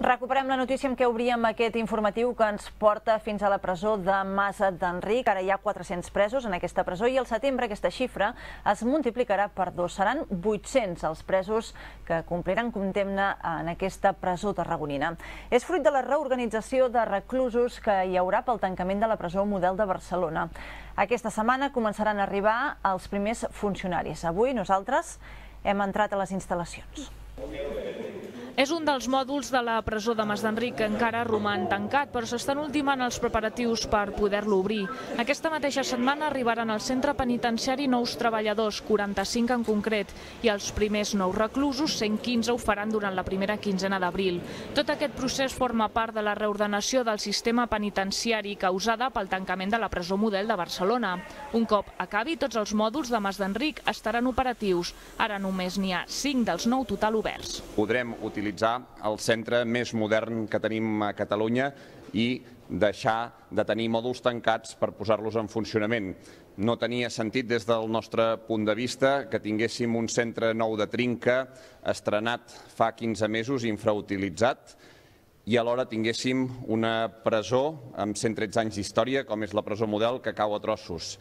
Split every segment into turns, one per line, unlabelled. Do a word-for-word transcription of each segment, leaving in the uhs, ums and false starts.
Recuperem la notícia amb què obríem aquest informatiu que ens porta fins a la presó de Mas d'Enric. Ara hi ha quatre-cents presos en aquesta presó i al setembre aquesta xifra es multiplicarà per dos. Seran vuit-cents els presos que compliran condemna en aquesta presó tarragonina. És fruit de la reorganització de reclusos que hi haurà pel tancament de la presó Model de Barcelona. Aquesta setmana començaran a arribar els primers funcionaris. Avui nosaltres hem entrat a les instal·lacions.
És un dels mòduls de la presó de Mas d'Enric que encara roman tancat, però s'estan ultimant els preparatius per poder-lo obrir. Aquesta mateixa setmana arribaran al centre penitenciari nous treballadors, quaranta-cinc en concret, i els primers nous reclusos, cent quinze, ho faran durant la primera quinzena d'abril. Tot aquest procés forma part de la reordenació del sistema penitenciari causada pel tancament de la presó Model de Barcelona. Un cop acabi, tots els mòduls de Mas d'Enric estaran operatius. Ara només n'hi ha cinc dels nou total oberts.
Podrem utilitzar el centre més modern que tenim a Catalunya i deixar de tenir mòduls tancats per posar-los en funcionament. No tenia sentit des del nostre punt de vista que tinguéssim un centre nou de trinca, estrenat fa quinze mesos, infrautilitzat, i alhora tinguéssim una presó amb cent tretze anys d'història, com és la presó Model, que cau a trossos.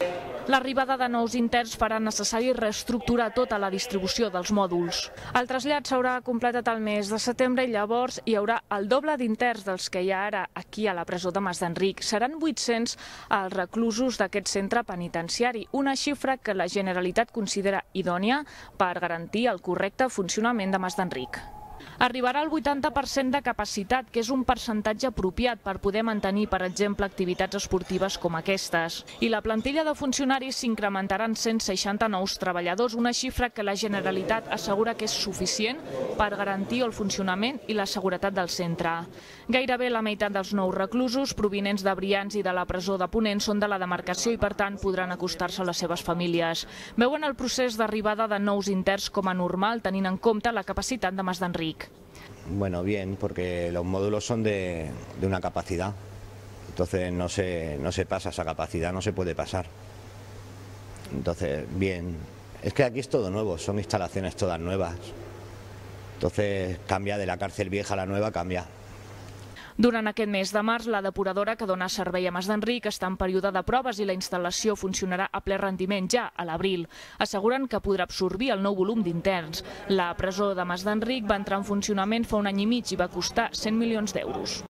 L'arribada de nous interns farà necessari reestructurar tota la distribució dels mòduls. El trasllat s'haurà completat al mes de setembre i llavors hi haurà el doble d'interns dels que hi ha ara aquí a la presó de Mas d'Enric. Seran vuit-cents els reclusos d'aquest centre penitenciari, una xifra que la Generalitat considera idònia per garantir el correcte funcionament de Mas d'Enric. Arribarà al vuitanta per cent de capacitat, que és un percentatge apropiat per poder mantenir, per exemple, activitats esportives com aquestes. I la plantilla de funcionaris s'incrementarà en cent seixanta nous treballadors, una xifra que la Generalitat assegura que és suficient per garantir el funcionament i la seguretat del centre. Gairebé la meitat dels nous reclusos, provinents de Brians i de la presó de Ponent, són de la demarcació i, per tant, podran acostar-se a les seves famílies. Veuen el procés d'arribada de nous interns com a normal, tenint en compte la capacitat de Mas d'Enric.
Bueno, bien, porque los módulos son de, de una capacidad, entonces no se, no se pasa esa capacidad, no se puede pasar. Entonces, bien, es que aquí es todo nuevo, son instalaciones todas nuevas, entonces cambia de la cárcel vieja a la nueva, cambia.
Durant aquest mes de març, la depuradora que dona servei a Mas d'Enric està en període de proves i la instal·lació funcionarà a ple rendiment ja a l'abril. Asseguren que podrà absorbir el nou volum d'interns. La presó de Mas d'Enric va entrar en funcionament fa un any i mig i va costar cent milions d'euros.